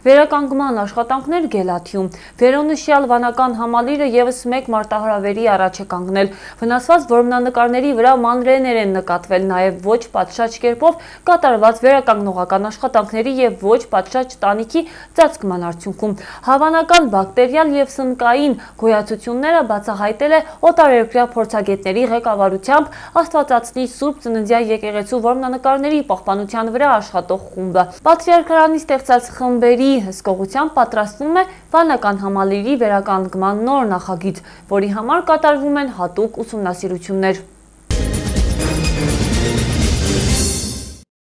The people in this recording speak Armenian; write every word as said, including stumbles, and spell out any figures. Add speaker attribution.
Speaker 1: Վերականգնման աշխատանքներ Գելաթիում։ Վերոնշյալ վանական համալիրը ևս մեկ մարտահրավերի առաջ է կանգնել։ Վնասված որմնանկարների վրա մանրէներ են նկատվել, նաև ոչ պատշաճ կերպով կատարված վերականգնողական աշխատանքների և ոչ պատշաճ տանիքի ծածկման արդյունքում։ Հավանական բակտերիալ և սնկային գոյացությունները բացահայտել է օտարերկրյա փորձագետների ղեկավարությամբ Աստվածածնի Սուրբ Ծննդյան եկեղեցու որմնանկարների պահպանության վրա աշխատող խումբը։ Պատրիարքարանի ստեղծած խմբերի հսկողությամբ պատրաստվում է վանական համալիրի վերականգնման նոր նախագիծ, որի համար կատարվում են հատուկ ուսումնասիրություններ։